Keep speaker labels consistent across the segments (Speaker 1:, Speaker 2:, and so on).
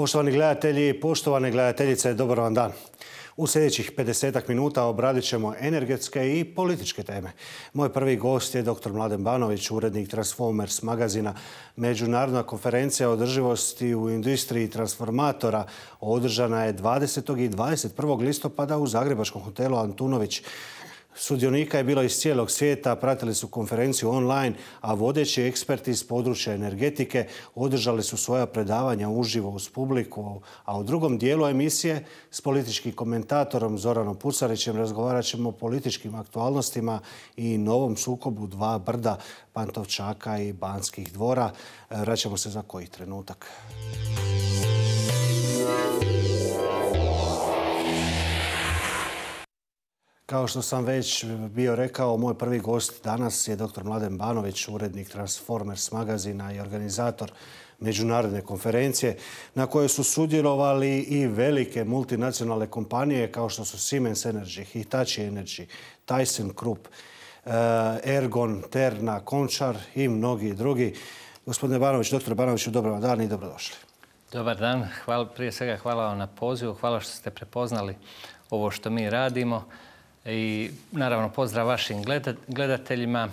Speaker 1: Poštovani gledatelji i poštovane gledateljice, dobar vam dan. U sljedećih 50 minuta obradit ćemo energetske i političke teme. Moj prvi gost je dr. Mladen Banović, urednik Transformers magazina. Međunarodna konferencija o održivosti u industriji transformatora održana je 20. i 21. listopada u zagrebačkom hotelu Antunović. Sudionika je bilo iz cijelog svijeta, pratili su konferenciju online, a vodeći eksperti iz područja energetike održali su svoja predavanja uživo uz publiku. A u drugom dijelu emisije s političkim komentatorom Zoranom Pucarićem razgovarat ćemo o političkim aktualnostima i novom sukobu dva brda, Pantovčaka i Banskih dvora. Vraćamo se za koji trenutak. Kao što sam već bio rekao, moj prvi gost danas je dr. Mladen Banović, urednik Transformers magazina i organizator međunarodne konferencije na kojoj su sudjelovali i velike multinacionalne kompanije kao što su Siemens Energy, Hitachi Energy, ThyssenKrupp, Ergon, Terna, Končar i mnogi drugi. Gospodine Banović, dr. Banoviću, dobar vam dan i dobrodošli.
Speaker 2: Dobar dan. Prije svega hvala vam na pozivu. Hvala što ste prepoznali ovo što mi radimo. I naravno pozdrav vašim gledateljima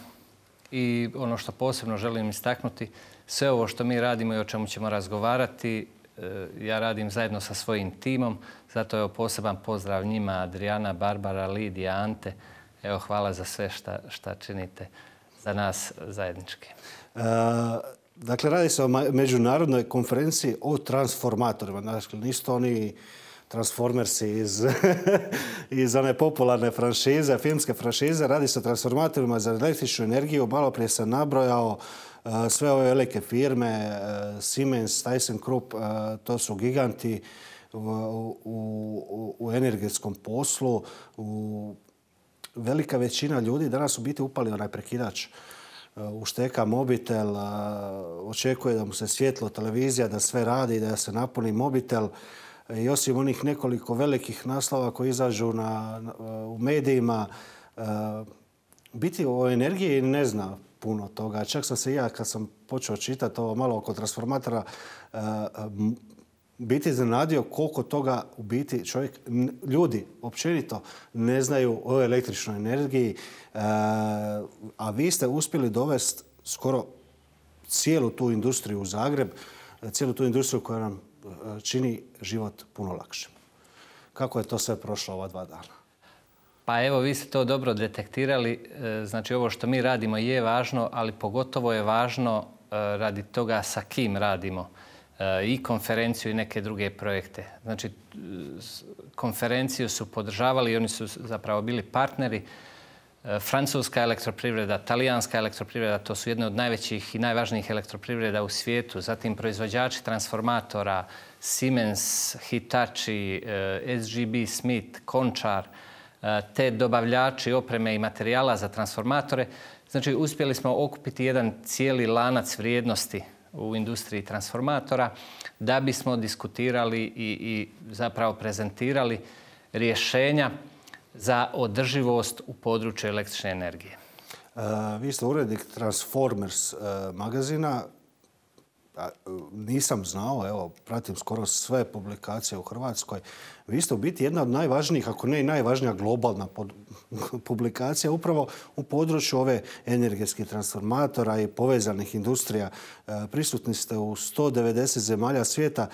Speaker 2: i ono što posebno želim istaknuti, sve ovo što mi radimo i o čemu ćemo razgovarati, ja radim zajedno sa svojim timom, zato je poseban pozdrav njima, Adriana, Barbara, Lidija, Ante. Evo, hvala za sve šta činite za nas zajednički.
Speaker 1: Dakle, radi se o međunarodnoj konferenciji o transformatorima. Dakle, nisu to oni Transformersi iz one popularne franšize, filmske franšize. Radi se o transformatorima za električnu energiju. Malo prije sam nabrojao sve ove velike firme, Siemens, ThyssenKrupp, to su giganti u energetskom poslu. Velika većina ljudi danas u biti upali onaj prekidač. Ušteka mobitel, očekuje da mu se svjetlo, televizija, da sve radi, da se napuni mobitel. I osim onih nekoliko velikih naslova koji izađu u medijima, biti o energiji ne zna puno toga. Čak sam se ja, kad sam počeo čitati ovo malo oko transformatora, biti iznenadio koliko toga u biti ljudi općenito ne znaju o električnoj energiji. A vi ste uspjeli dovesti skoro cijelu tu industriju u Zagreb, cijelu tu industriju koja nam čini život puno lakšim. Kako je to sve prošlo ova 2 dana?
Speaker 2: Pa evo, vi ste to dobro detektirali. Znači, ovo što mi radimo je važno, ali pogotovo je važno radi toga sa kim radimo i konferenciju i neke druge projekte. Znači, konferenciju su podržavali i oni su zapravo bili partneri. Francuska elektroprivreda, talijanska elektroprivreda, to su jedne od najvećih i najvažnijih elektroprivreda u svijetu. Zatim proizvođači transformatora, Siemens, Hitachi, SGB, Smith, Končar, te dobavljači opreme i materijala za transformatore. Znači, uspjeli smo okupiti jedan cijeli lanac vrijednosti u industriji transformatora da bismo diskutirali i zapravo prezentirali rješenja za održivost u području električne energije.
Speaker 1: Vi ste urednik Transformers magazina. Nisam znao, evo, pratim skoro sve publikacije u Hrvatskoj. Vi ste u biti jedna od najvažnijih, ako ne i najvažnija globalna publikacija upravo u području ove energetskih transformatora i povezanih industrija. Prisutni ste u 190 zemalja svijeta.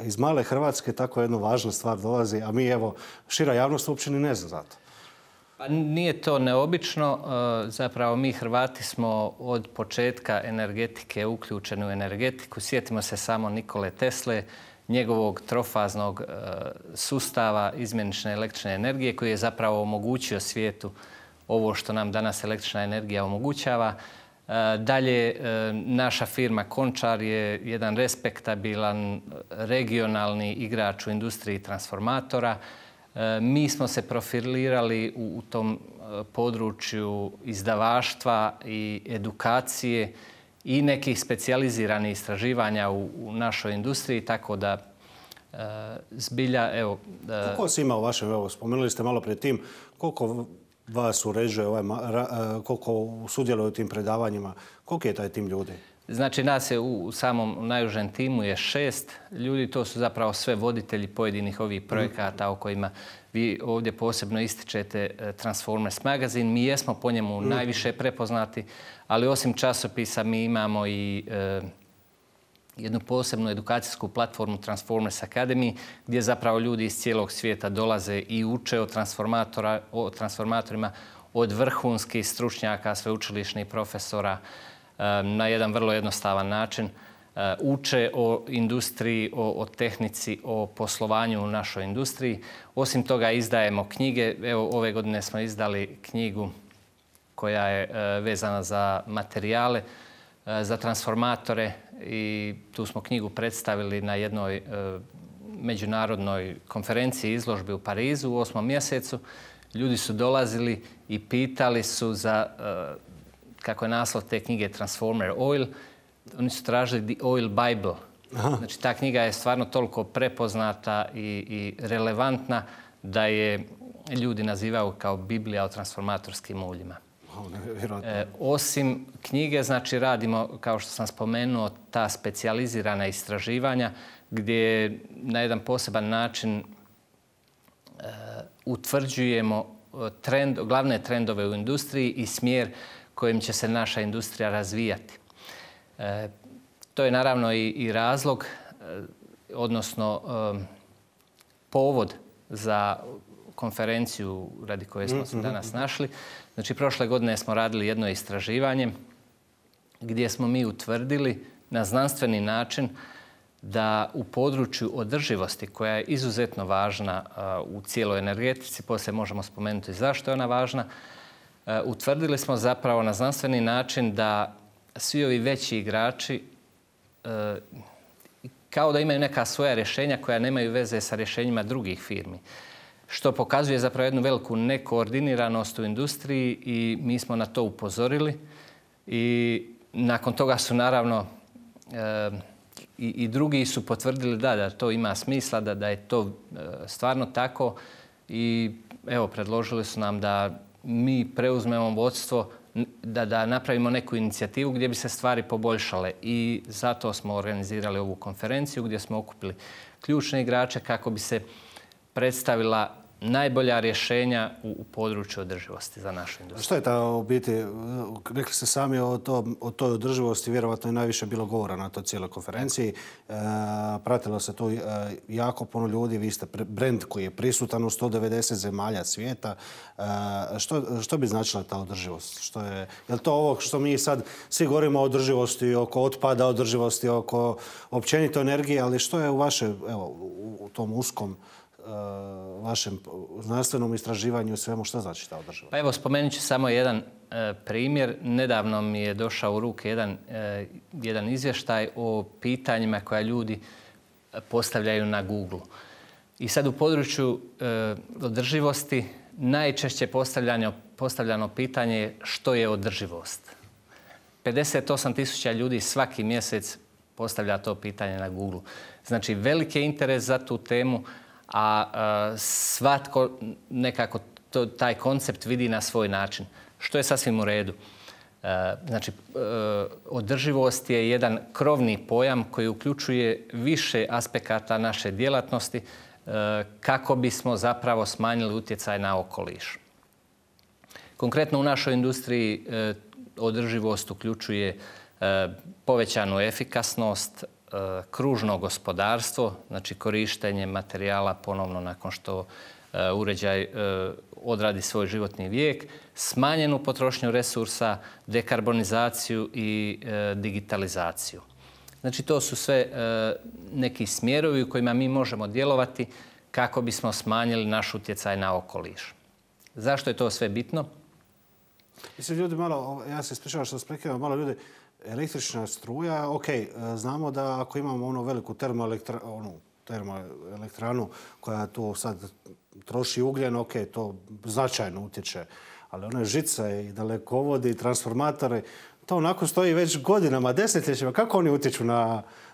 Speaker 1: Iz male Hrvatske tako jedna važna stvar dolazi, a mi, evo, šira javnost uopće ni ne zna za to.
Speaker 2: Pa nije to neobično. Zapravo mi Hrvati smo od početka energetike uključeni u energetiku. Sjetimo se samo Nikole Tesle, njegovog trofaznog sustava izmjenične električne energije koji je zapravo omogućio svijetu ovo što nam danas električna energija omogućava. Dalje, naša firma Končar je jedan respektabilan regionalni igrač u industriji transformatora. Mi smo se profilirali u tom području izdavaštva i edukacije i nekih specijaliziranih istraživanja u našoj industriji, tako da zbilja, evo...
Speaker 1: Koliko vas ima u vašem, evo, spomenuli ste malo prije tim, koliko vas uređuje, koliko sudjeluje u tim predavanjima, koliki je taj tim ljudi?
Speaker 2: Znači, nas je u samom najužem timu je 6 ljudi. To su zapravo sve voditelji pojedinih ovih projekata o kojima vi ovdje posebno ističete Transformers magazin. Mi jesmo po njemu najviše prepoznati, ali osim časopisa mi imamo i jednu posebnu edukacijsku platformu Transformers Academy, gdje zapravo ljudi iz cijelog svijeta dolaze i uče o transformatorima od vrhunskih stručnjaka, sveučilišnih profesora, na jedan vrlo jednostavan način. Uče o industriji, o tehnici, o poslovanju u našoj industriji. Osim toga izdajemo knjige. Evo, ove godine smo izdali knjigu koja je vezana za materijale, za transformatore i tu smo knjigu predstavili na jednoj međunarodnoj konferenciji izložbi u Parizu u 8. mjesecu. Ljudi su dolazili i pitali su za, kako je naslov te knjige, Transformer Oil. Oni su tražili The Oil Bible. Aha. Znači, ta knjiga je stvarno toliko prepoznata i relevantna da je ljudi nazivaju kao Biblija o transformatorskim uljima. Osim knjige, znači, radimo, kao što sam spomenuo, ta specijalizirana istraživanja gdje na jedan poseban način utvrđujemo glavne trendove u industriji i smjer kojim će se naša industrija razvijati. To je naravno i razlog, odnosno povod za konferenciju radi koje smo se danas našli. Znači, prošle godine smo radili jedno istraživanje gdje smo mi utvrdili na znanstveni način da u području održivosti, koja je izuzetno važna u cijeloj energetici, poslije možemo spomenuti zašto je ona važna, utvrdili smo zapravo na znanstveni način da svi ovi veći igrači kao da imaju neka svoja rješenja koja nemaju veze sa rješenjima drugih firmi. Što pokazuje zapravo jednu veliku nekoordiniranost u industriji i mi smo na to upozorili. I nakon toga su naravno i drugi su potvrdili da to ima smisla, da je to stvarno tako. I evo, predložili su nam da mi preuzmemo vodstvo, da napravimo neku inicijativu gdje bi se stvari poboljšale. I zato smo organizirali ovu konferenciju gdje smo okupili ključne igrače kako bi se predstavila najbolja rješenja u području održivosti za našu industriju.
Speaker 1: Što je ta u biti, rekli ste sami o toj održivosti, vjerovatno je najviše bilo govora na toj cijeloj konferenciji. Pratilo se tu jako puno ljudi, vi ste brend koji je prisutan u 190 zemalja svijeta. Što bi značila ta održivost? Je li to ovo što mi sad svi govorimo o održivosti, oko otpada, održivosti, oko općenito energije, ali što je u vašem, evo, u tom uskom vašem znanstvenom istraživanju i svemu, što znači ta održivost?
Speaker 2: Pa evo, spomenut ću samo jedan primjer. Nedavno mi je došao u ruke jedan izvještaj o pitanjima koja ljudi postavljaju na Google. I sad u području održivosti najčešće postavljano pitanje je što je održivost. 58.000 ljudi svaki mjesec postavlja to pitanje na Google. Znači, veliki je interes za tu temu, a svatko nekako taj koncept vidi na svoj način, što je sasvim u redu. Znači, održivost je jedan krovni pojam koji uključuje više aspekata naše djelatnosti kako bismo zapravo smanjili utjecaj na okoliš. Konkretno u našoj industriji održivost uključuje povećanu efikasnost, kružno gospodarstvo, znači korištenje materijala ponovno nakon što uređaj odradi svoj životni vijek, smanjenu potrošnju resursa, dekarbonizaciju i digitalizaciju. Znači, to su sve neki smjerovi u kojima mi možemo djelovati kako bismo smanjili naš utjecaj na okoliš. Zašto je to sve bitno?
Speaker 1: Mislim, ljudi malo, ja se ispričavam što prekidam, malo ljudi, električna struja, ok, znamo da ako imamo onu veliku termoelektranu koja tu sad troši ugljen, ok, to značajno utječe. Ali one žice i dalekovodi i transformatori, to onako stoji već godinama, desetljećima. Kako oni utječu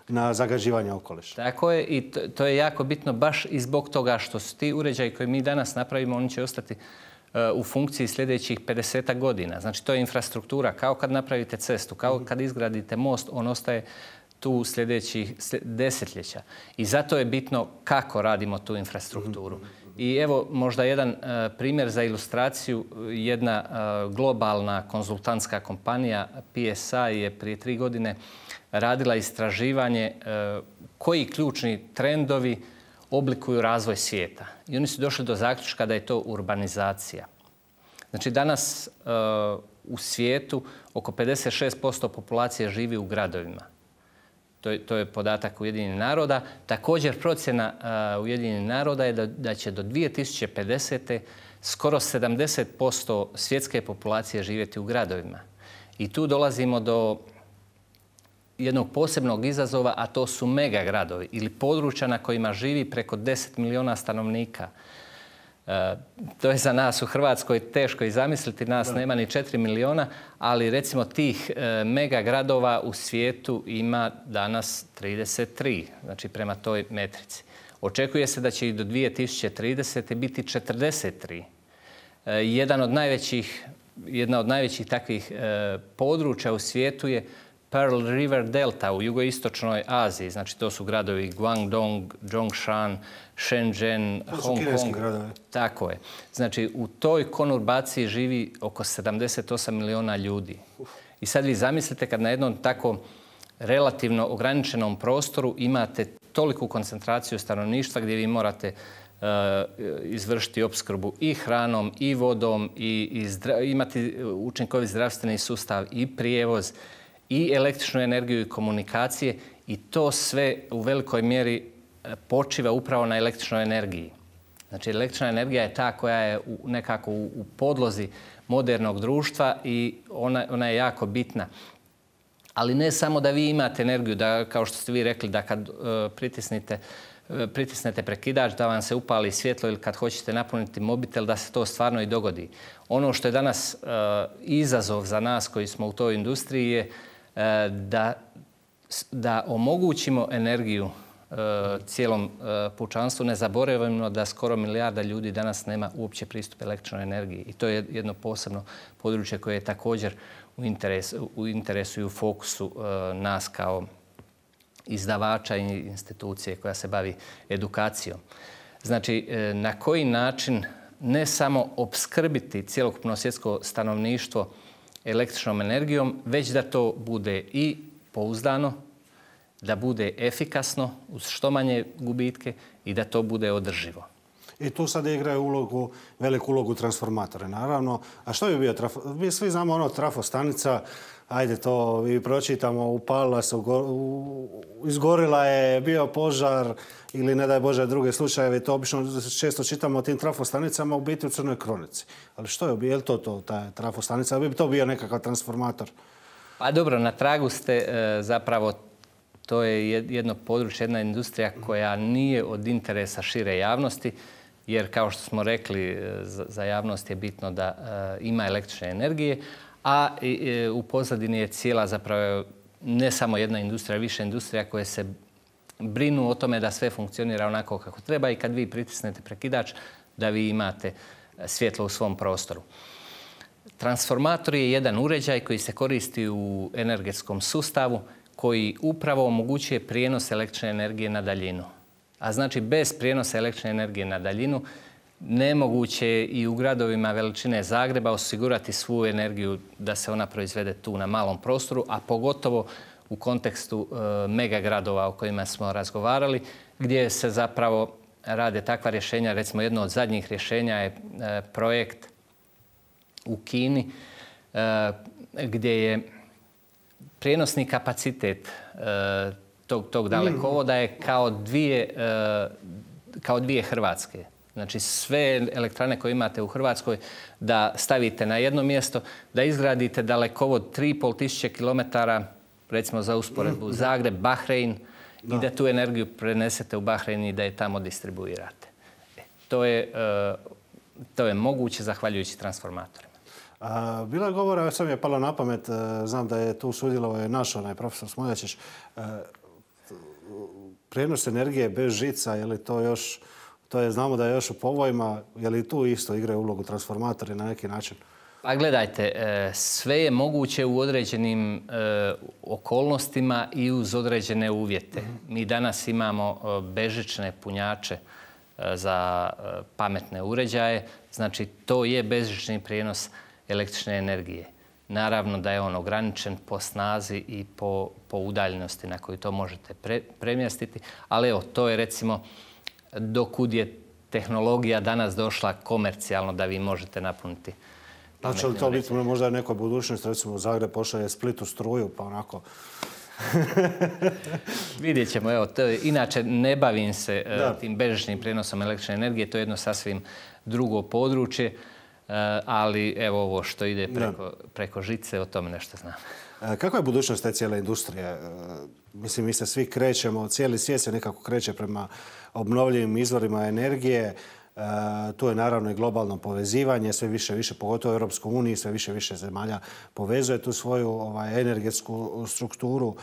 Speaker 1: na zagađivanje okoliša?
Speaker 2: Tako je, i to je jako bitno baš i zbog toga što su ti uređaji koje mi danas napravimo, oni će ostati u funkciji sljedećih 50 godina. Znači, to je infrastruktura. Kao kad napravite cestu, kao kad izgradite most, on ostaje tu sljedećih desetljeća. I zato je bitno kako radimo tu infrastrukturu. I evo možda jedan primjer za ilustraciju. Jedna globalna konzultantska kompanija PSI je prije 3 godine radila istraživanje koji ključni trendovi oblikuju razvoj svijeta. I oni su došli do zaključka da je to urbanizacija. Znači danas u svijetu oko 56% populacije živi u gradovima. To je podatak Ujedinjenih naroda. Također procjena Ujedinjenih naroda je da će do 2050. skoro 70% svjetske populacije živjeti u gradovima. I tu dolazimo do jednog posebnog izazova, a to su megagradovi ili područja na kojima živi preko 10 milijuna stanovnika. To je za nas u Hrvatskoj teško i zamisliti, nas nema ni 4 milijuna, ali recimo tih megagradova u svijetu ima danas 33, znači prema toj metrici. Očekuje se da će i do 2030. biti 43. Jedna od najvećih takvih područja u svijetu je Pearl River Delta u jugoistočnoj Aziji. Znači to su gradovi Guangdong, Zhongshan, Shenzhen, Hong Kong. Tako je. Znači u toj konurbaciji živi oko 78 milijuna ljudi. I sad vi zamislite kad na jednom tako relativno ograničenom prostoru imate toliku koncentraciju stanovništva gdje vi morate izvršiti opskrbu i hranom i vodom i imati učinkovit zdravstveni sustav i prijevoz i električnu energiju i komunikacije i to sve u velikoj mjeri počiva upravo na električnoj energiji. Znači električna energija je ta koja je nekako u podlozi modernog društva i ona je jako bitna. Ali ne samo da vi imate energiju, da kao što ste vi rekli, da kad pritisnete prekidač da vam se upali svjetlo ili kad hoćete napuniti mobitel da se to stvarno i dogodi. Ono što je danas izazov za nas koji smo u toj industriji je da omogućimo energiju cijelom pučanstvu. Ne zaboravimo da skoro milijarda ljudi danas nema uopće pristup električnoj energiji. I to je jedno posebno područje koje je također u interesu i u fokusu nas kao izdavača i institucije koja se bavi edukacijom. Znači, na koji način ne samo opskrbiti cjelokupno svjetsko stanovništvo električnom energijom, već da to bude i pouzdano, da bude efikasno uz što manje gubitke i da to bude održivo.
Speaker 1: I tu sad igraju veliku ulogu transformatora, naravno. A što bi bio mi svi znamo trafostanica, ajde to i pročitamo, upalila se, izgorila je, bio požar ili ne daj Bože druge slučajeve. To obično često čitamo o tim trafostanicama u biti u Crnoj kronici. Ali što je li to ta trafostanica? Bi to bio nekakav transformator?
Speaker 2: Pa dobro, na tragu ste zapravo. To je jedno područje, jedna industrija koja nije od interesa šire javnosti, jer kao što smo rekli, za javnost je bitno da ima električne energije, a u pozadini je cijela zapravo ne samo jedna industrija, više industrija koje se brinu o tome da sve funkcionira onako kako treba i kad vi pritisnete prekidač da vi imate svjetlo u svom prostoru. Transformator je jedan uređaj koji se koristi u energetskom sustavu koji upravo omogućuje prijenos električne energije na daljinu. A znači bez prijenosa električne energije na daljinu nemoguće je i u gradovima veličine Zagreba osigurati svu energiju da se ona proizvede tu na malom prostoru, a pogotovo u kontekstu megagradova o kojima smo razgovarali, gdje se zapravo rade takva rješenja. Recimo jedno od zadnjih rješenja je projekt u Kini gdje je prijenosni kapacitet tog dalekovoda je kao dvije Hrvatske. Znači sve elektrane koje imate u Hrvatskoj da stavite na jedno mjesto, da izgradite dalekovod 3.500 km, recimo za usporedbu Zagreb, Bahrein, i da tu energiju prenesete u Bahrein i da je tamo distribuirate. To je moguće zahvaljujući transformatorima.
Speaker 1: Bilo je govora, sad mi je palo na pamet, znam da je tu sudjelovao naš profesor Smoljačić, prijenos energije bez žica, je li to još To je, znamo da je još u povojima. Je li tu isto igraju ulogu transformatori na neki način?
Speaker 2: Pa gledajte, sve je moguće u određenim okolnostima i uz određene uvjete. Mi danas imamo bežične punjače za pametne uređaje. Znači, to je bežični prijenos električne energije. Naravno da je on ograničen po snazi i po udaljenosti na koju to možete premjestiti. Ali evo, to je recimo dokud je tehnologija danas došla komercijalno da vi možete napuniti.
Speaker 1: Znači li to biti možda nekoj budućnosti, recimo Zagreb pošalje Splitu struju, pa onako...
Speaker 2: Vidjet ćemo. Evo, inače, ne bavim se tim bežičnim prijenosom električne energije. To je jedno sasvim drugo područje. Ali evo ovo što ide preko žice, o tome nešto znam.
Speaker 1: Kakva je budućnost te cijele industrije? Mislim, mi se svi krećemo, cijeli svijet se nekako kreće prema obnovljivim izvorima energije. Tu je naravno i globalno povezivanje, sve više, pogotovo u Europskoj uniji, sve više zemalja povezuje tu svoju energetsku strukturu.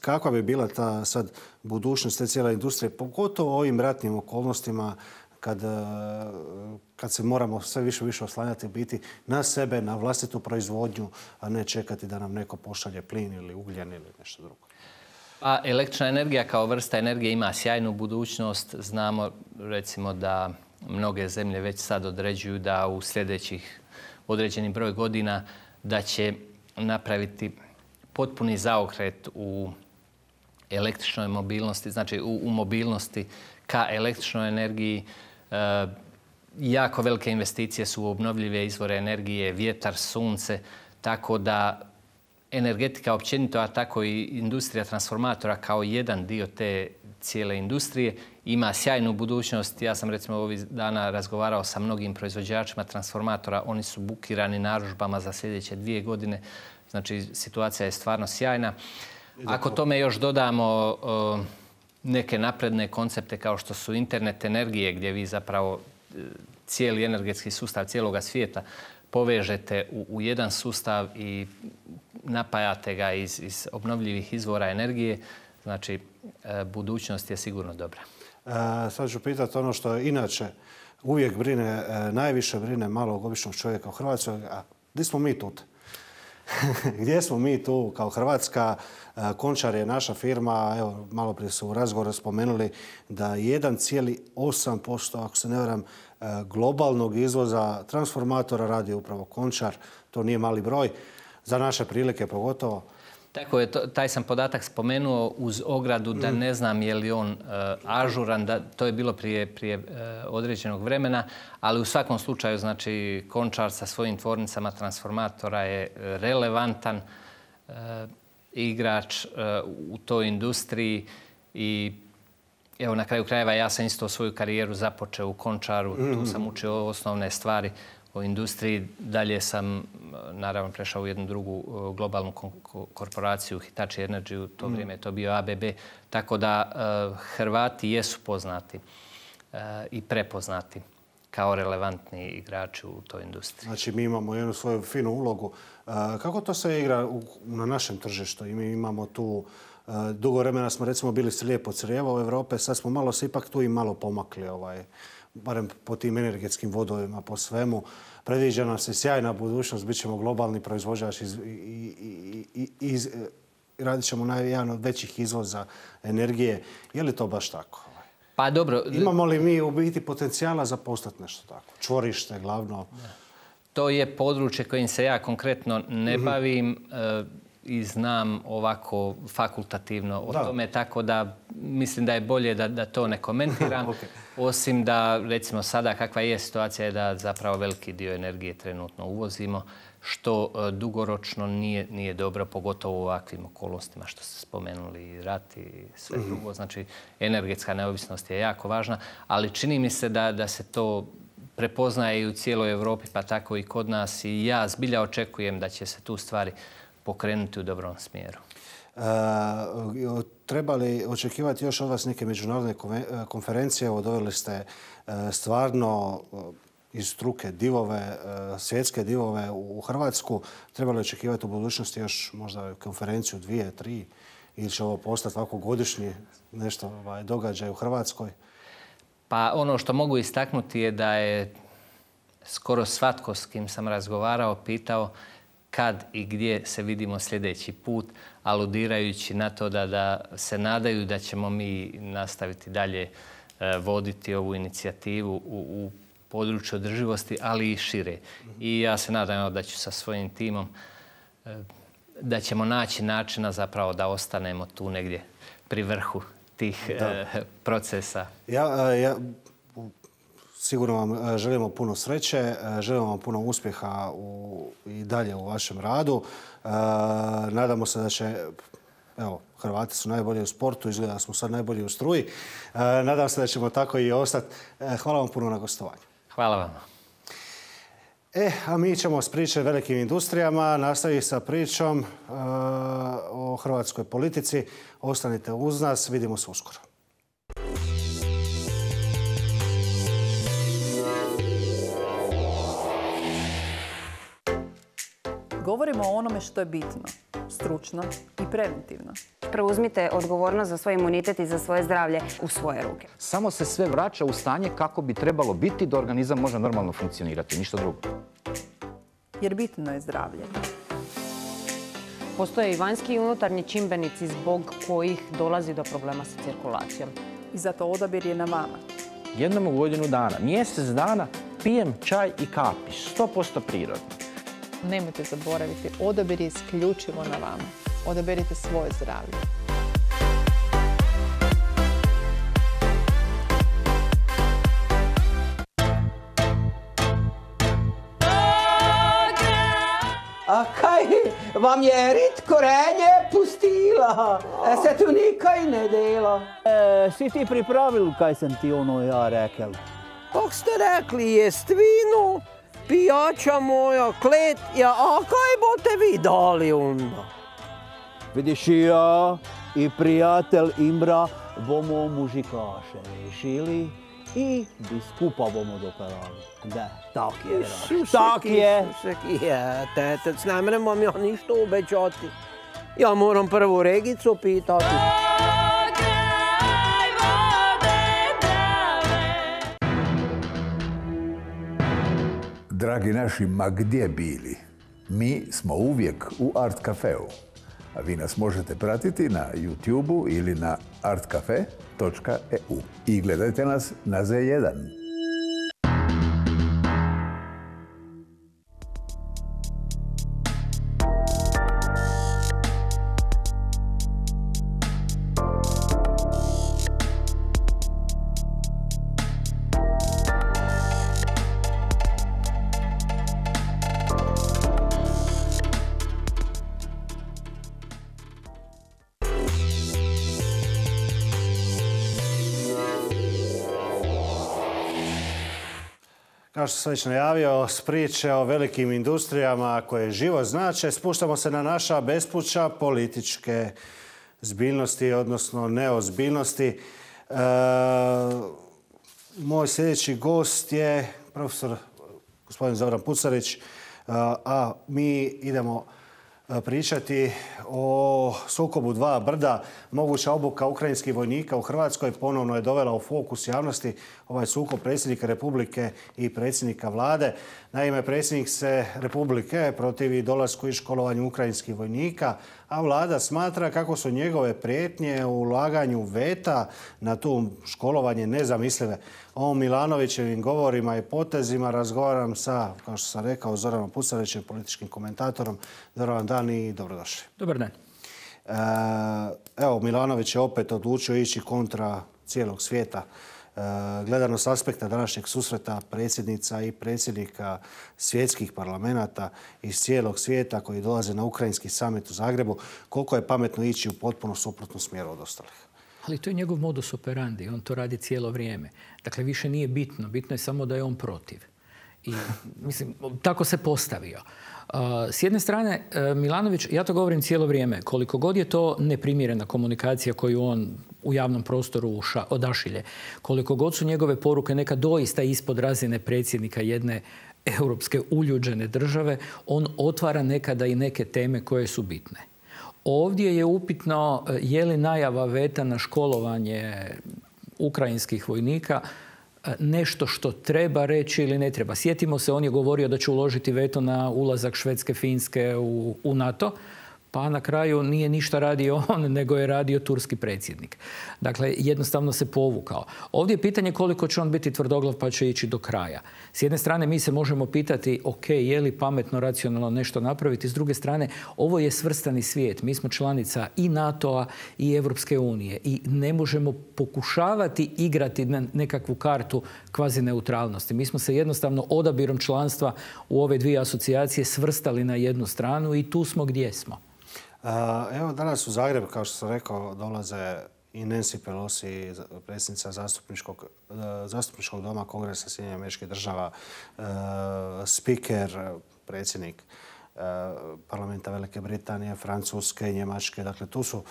Speaker 1: Kakva bi bila ta sad budućnost te cijele industrije, pogotovo u ovim ratnim okolnostima kad se moramo sve više oslanjati biti na sebe, na vlastitu proizvodnju, a ne čekati da nam neko pošalje plin ili ugljen ili nešto drugo?
Speaker 2: A električna energija kao vrsta energije ima sjajnu budućnost. Znamo recimo da mnoge zemlje već sad određuju da u sljedećih određeni broj godina da će napraviti potpuni zaokret u električnoj mobilnosti, znači u mobilnosti ka električnoj energiji. Jako velike investicije su u obnovljive izvore energije, vjetar, sunce, tako da energetika općenito, a tako i industrija transformatora kao jedan dio te cijele industrije ima sjajnu budućnost. Ja sam recimo ovih dana razgovarao sa mnogim proizvođačima transformatora. Oni su bukirani narudžbama za sljedeće 2 godine. Znači, situacija je stvarno sjajna. Ako tome još dodamo neke napredne koncepte kao što su internet energije, gdje vi zapravo cijeli energetski sustav cijeloga svijeta povežete u jedan sustav i napajate ga iz obnovljivih izvora energije, znači budućnost je sigurno dobra.
Speaker 1: Sad ću pitati ono što inače uvijek brine, najviše brine malog običnog čovjeka u Hrvatskoj, a gdje smo mi tu? Gdje smo mi tu kao Hrvatska? Končar je naša firma, evo, malo prije su u razgovoru spomenuli da 1,8%, ako se ne varam, globalnog izvoza transformatora radi upravo Končar. To nije mali broj, za naše prilike pogotovo.
Speaker 2: Tako je, taj sam podatak spomenuo uz ogradu da ne znam je li on ažuran, to je bilo prije određenog vremena, ali u svakom slučaju, znači, Končar sa svojim tvornicama transformatora je relevantan igrač u toj industriji i evo, na kraju krajeva ja sam isto svoju karijeru započeo u Končaru, tu sam učio osnovne stvari o industriji. Dalje sam, naravno, prešao u jednu drugu globalnu korporaciju, Hitachi Energy, u to vrijeme je to bio ABB. Tako da Hrvati jesu poznati i prepoznati kao relevantni igrači u toj industriji.
Speaker 1: Znači, mi imamo jednu svoju finu ulogu. Kako to se igra na našem tržištu? I mi imamo tu, dugo vremena smo recimo bili slijepo crijevo u Europe, sad smo malo se ipak tu i malo pomakli, barem po tim energetskim vodovima, po svemu. Predviđa nam se sjajna budućnost, bit ćemo globalni proizvođač i radit ćemo jedan od većih izvoza energije. Je li to baš tako?
Speaker 2: Pa dobro.
Speaker 1: Imamo li mi u biti potencijala za postati nešto tako? Čvorište, glavno.
Speaker 2: To je područje kojim se ja konkretno ne bavim i znam ovako fakultativno o tome, tako da mislim da je bolje da to ne komentiram. Osim da, recimo sada kakva je situacija je da zapravo veliki dio energije trenutno uvozimo, što dugoročno nije dobro, pogotovo u ovakvim okolnostima što ste spomenuli, rat i sve drugo. Znači, energetska neovisnost je jako važna, ali čini mi se da se to prepoznaje i u cijeloj Europi, pa tako i kod nas. I ja zbilja očekujem da će se tu stvari pokrenuti u dobrom smjeru.
Speaker 1: Treba li očekivati još od vas neke međunarodne konferencije? Evo, doveli ste stvarno iz struke divove, svjetske divove u Hrvatsku. Treba li očekivati u budućnosti još možda konferenciju, 2, 3 ili će ovo postati ovako godišnji nešto događaj u Hrvatskoj?
Speaker 2: Pa ono što mogu istaknuti je da je skoro svatko s kim sam razgovarao pitao kad i gdje se vidimo sljedeći put, aludirajući na to da se nadaju da ćemo mi nastaviti dalje voditi ovu inicijativu u području održivosti, ali i šire. I ja se nadam da ću sa svojim timom, da ćemo naći načina zapravo da ostanemo tu negdje pri vrhu tih procesa.
Speaker 1: Sigurno vam želimo puno sreće, želimo vam puno uspjeha i dalje u vašem radu. Nadamo se da će, evo, Hrvati su najbolji u sportu, izgleda da smo sad najbolji u struji. Nadam se da ćemo tako i ostati. Hvala vam puno na gostovanju.
Speaker 2: Hvala vam.
Speaker 1: A mi ćemo s priče velikim industrijama nastaviti sa pričom o hrvatskoj politici. Ostanite uz nas, vidimo se uskoro.
Speaker 3: Govorimo o onome što je bitno, stručno i preventivno.
Speaker 4: Preuzmite odgovornost za svoj imunitet i za svoje zdravlje u svoje ruke.
Speaker 5: Samo se sve vraća u stanje kako bi trebalo biti da organizam može normalno funkcionirati, ništa drugo.
Speaker 3: Jer bitno je zdravlje.
Speaker 6: Postoje i vanjski i unutarnji čimbenici zbog kojih dolazi do problema sa cirkulacijom.
Speaker 3: I zato odabir je na vama.
Speaker 5: Jednom u godinu dana, mjesec dana pijem čaj i kapi, 100% prirodno.
Speaker 7: Nemojte zaboraviti, odabir je isključivo na vama. Odaberite svoje zdravlje.
Speaker 8: A kaj vam je rit korenje pustila? Se tu nikaj ne dela?
Speaker 9: Si ti pripravil, kaj sem ti ja rekel?
Speaker 8: Kak ste rekli, jest vino, pijača moja, klet, a kaj boste vi dali onda?
Speaker 9: Vidiš, ja i prijatelj Imbra bomo mužikaše rešili i biskupa bomo dopeljali. Da, tak je, tak je.
Speaker 8: Tetec, ne mrem vam ja ništa obećati. Ja moram prvo Regicu pitati.
Speaker 10: Dragi naši, ma gdje bili? Mi smo uvijek u Art Cafeu. A vi nas možete pratiti na YouTube-u ili na artcafe.eu. I gledajte nas na Z1.
Speaker 1: Kao što sam već najavio, s priče o velikim industrijama koje život znače, spuštamo se na naša bespuća političke zbiljnosti, odnosno neozbiljnosti. Moj sljedeći gost je profesor gospodin Zoran Pucarić, a mi idemo pričati o sukobu dva brda. Moguća obuka ukrajinskih vojnika u Hrvatskoj ponovno je dovela u fokus javnosti ovaj sukob predsjednika Republike i predsjednika Vlade. Naime, predsjednik se Republike protivi dolasku i školovanju ukrajinskih vojnika, a Vlada smatra kako su njegove prijetnje u ulaganju veta na to školovanje nezamislive. O Milanovićevim govorima i potezima razgovaram sa, kao što sam rekao, Zoranom Pucarićem, političkim komentatorom. Dobar vam dan i dobrodošli.
Speaker 11: Dobar dan.
Speaker 1: Evo, Milanović je opet odlučio ići kontra cijelog svijeta. Gledano s aspekta današnjeg susreta predsjednica i predsjednika svjetskih parlamenata iz cijelog svijeta koji dolaze na ukrajinski samit u Zagrebu, koliko je pametno ići u potpuno suprotnom smjeru od ostalih?
Speaker 11: Ali to je njegov modus operandi. On to radi cijelo vrijeme. Dakle, više nije bitno. Bitno je samo da je on protiv. I, mislim, tako se postavio. S jedne strane, Milanović, ja to govorim cijelo vrijeme, koliko god je to neprimjerena komunikacija koju on u javnom prostoru odašilje, koliko god su njegove poruke neka doista ispod razine predsjednika jedne europske uljuđene države, on otvara nekada i neke teme koje su bitne. Ovdje je upitno je li najava veta na školovanje ukrajinskih vojnika nešto što treba reći ili ne treba. Sjetimo se, on je govorio da će uložiti veto na ulazak Švedske, Finske u NATO, pa na kraju nije ništa radio on, nego je radio turski predsjednik. Dakle, jednostavno se povukao. Ovdje je pitanje koliko će on biti tvrdoglav pa će ići do kraja. S jedne strane mi se možemo pitati, ok, je li pametno, racionalno nešto napraviti? S druge strane, ovo je svrstani svijet. Mi smo članica i NATO-a i Europske unije i ne možemo pokušavati igrati na nekakvu kartu kvazi neutralnosti. Mi smo se jednostavno odabirom članstva u ove dvije asocijacije svrstali na jednu stranu i tu smo gdje smo.
Speaker 1: Evo, danas u Zagreb, kao što sam rekao, dolaze i Nancy Pelosi, predsjednica zastupničkog doma Kongresa Sjedinjenih Američkih Država, spiker, predsjednik parlamenta Velike Britanije, Francuske, Njemačke. Dakle, tu su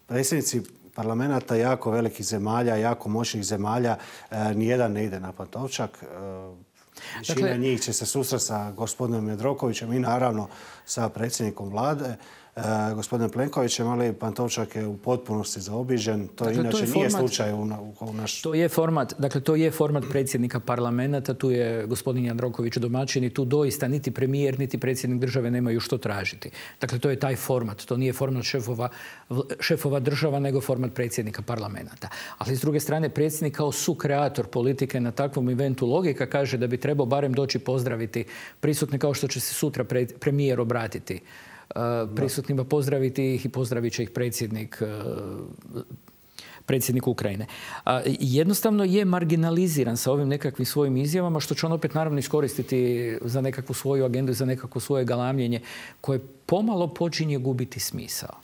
Speaker 1: predsjednici parlamenta jako velikih zemalja, jako moćnih zemalja. Nijedan ne ide na Pantovčak. Većina njih će se susreti sa gospodinom Jandrokovićem i naravno sa predsjednikom vlade, gospodinom Plenkovićem, ali Pantovčak je u potpunosti zaobiđen. To inače nije slučaj u naš...
Speaker 11: To je format predsjednika parlamenta, tu je gospodin Jandroković domaćin i tu doista niti premijer, niti predsjednik države nemaju što tražiti. Dakle, to je taj format. To nije format šefova država, nego format predsjednika parlamenta. Ali s druge strane, predsjednik kao sukreator politike na takvom eventu logika kaže da bi trebao barem doći pozdraviti prisutne, kao što će se sutra premijer obratiti prisutnima, pozdraviti ih i pozdravit će ih predsjednik Ukrajine. Jednostavno je marginaliziran sa ovim nekakvim svojim izjavama, što će on opet naravno iskoristiti za nekakvu svoju agendu, za nekakvo svoje galamljenje koje pomalo počinje gubiti smisao.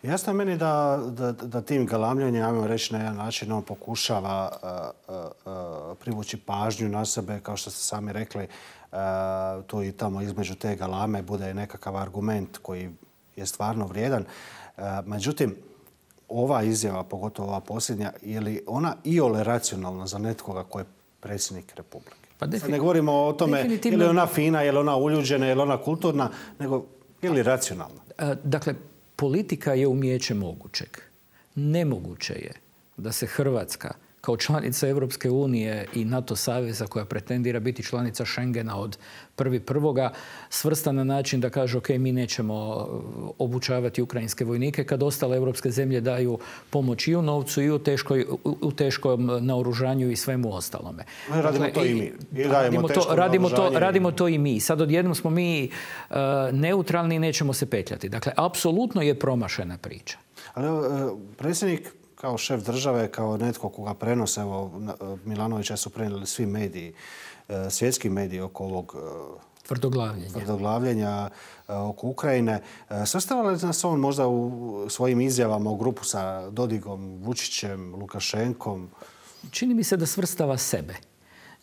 Speaker 1: Jasno je meni da tim galamljenjem, ajmo reći na jedan način, on pokušava privući pažnju na sebe, kao što ste sami rekli, tu i tamo između te galame bude nekakav argument koji je stvarno vrijedan. Međutim, ova izjava, pogotovo ova posljednja, je li ona iole racionalna za netkoga ko je predsjednik Republike? Ne govorimo o tome je li ona fina, je li ona uljuđena, je li ona kulturna, nego je li racionalna?
Speaker 11: Dakle, politika je umijeće mogućeg. Nemoguće je da se Hrvatska kao članica Europske unije i NATO saveza koja pretendira biti članica Schengena od 1.1. svrsta na način da kaže ok, mi nećemo obučavati ukrajinske vojnike kad ostale europske zemlje daju pomoć i u novcu i u teškom naoružanju i svemu ostalome.
Speaker 1: Radimo to i mi.
Speaker 11: Radimo to i mi. Sad odjednom smo mi neutralni i nećemo se petljati. Dakle, apsolutno je promašena priča.
Speaker 1: Ali predsjednik kao šef države, kao netko koga prenose, evo Milanovića su prenijeli svi mediji, svjetski mediji oko ovog tvrdoglavljenja oko Ukrajine. Svrstava li nas on možda u svojim izjavama u grupu sa Dodigom, Vučićem, Lukašenkom?
Speaker 11: Čini mi se da svrstava sebe.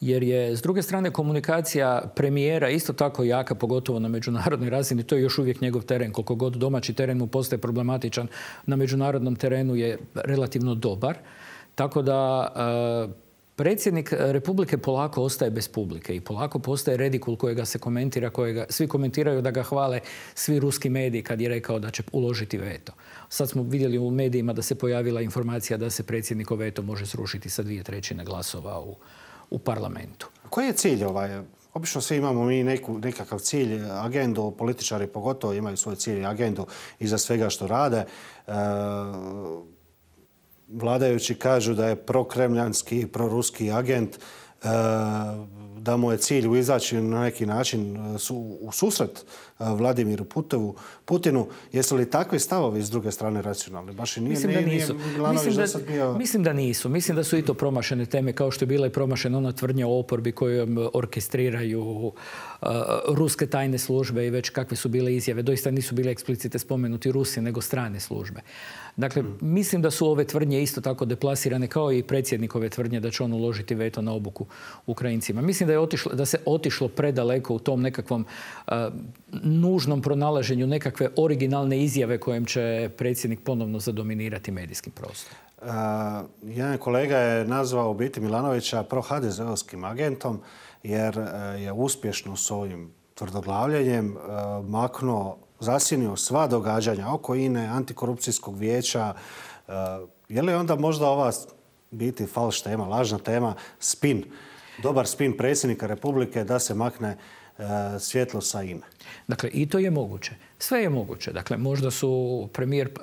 Speaker 11: Jer je, s druge strane, komunikacija premijera isto tako jaka, pogotovo na međunarodnoj razini. To je još uvijek njegov teren. Koliko god domaći teren mu postaje problematičan, na međunarodnom terenu je relativno dobar. Tako da predsjednik Republike polako ostaje bez publike i polako postaje redikul kojega se komentira, svi komentiraju da ga hvale svi ruski mediji kad je rekao da će uložiti veto. Sad smo vidjeli u medijima da se pojavila informacija da se predsjednikov veto može srušiti sa 2/3 glasova u parlamentu.
Speaker 1: Koji je cilj ovaj? Obično svi imamo mi nekakav cilj, agendu, političari pogotovo imaju svoj cilj i agendu iza svega što rade. Vladajući kažu da je prokremljanski, proruski agent, da mu je cilj izaći na neki način u susret Vladimiru Putinu. Jesu li takvi stavovi s druge strane racionalni?
Speaker 11: Mislim da nisu. Mislim da su i to promašene teme, kao što je bila i promašena ona tvrdnja o oporbi kojom orkestriraju ruske tajne službe i već kakve su bile izjave. Doista nisu bile eksplicite spomenuti Rusi, nego strane službe. Dakle, mislim da su ove tvrdnje isto tako deplasirane kao i predsjednikove tvrdnje da će on uložiti veto na obuku Ukrajincima. Mislim da se otišlo predaleko u tom nekakvom nužnom pronalaženju nekakve originalne izjave kojim će predsjednik ponovno zadominirati medijski prostor.
Speaker 1: Jedan kolega je nazvao u biti Milanovića pro-HDZ-ovskim agentom jer je uspješno s ovim tvrdoglavljenjem maknuo, zasjenio sva događanja oko INA-e, antikorupcijskog vijeća. Je li onda možda ova biti falš tema, lažna tema, spin, dobar spin predsjednika Republike da se makne svjetlo sa INA-e?
Speaker 11: Dakle, i to je moguće. Sve je moguće. Dakle, možda su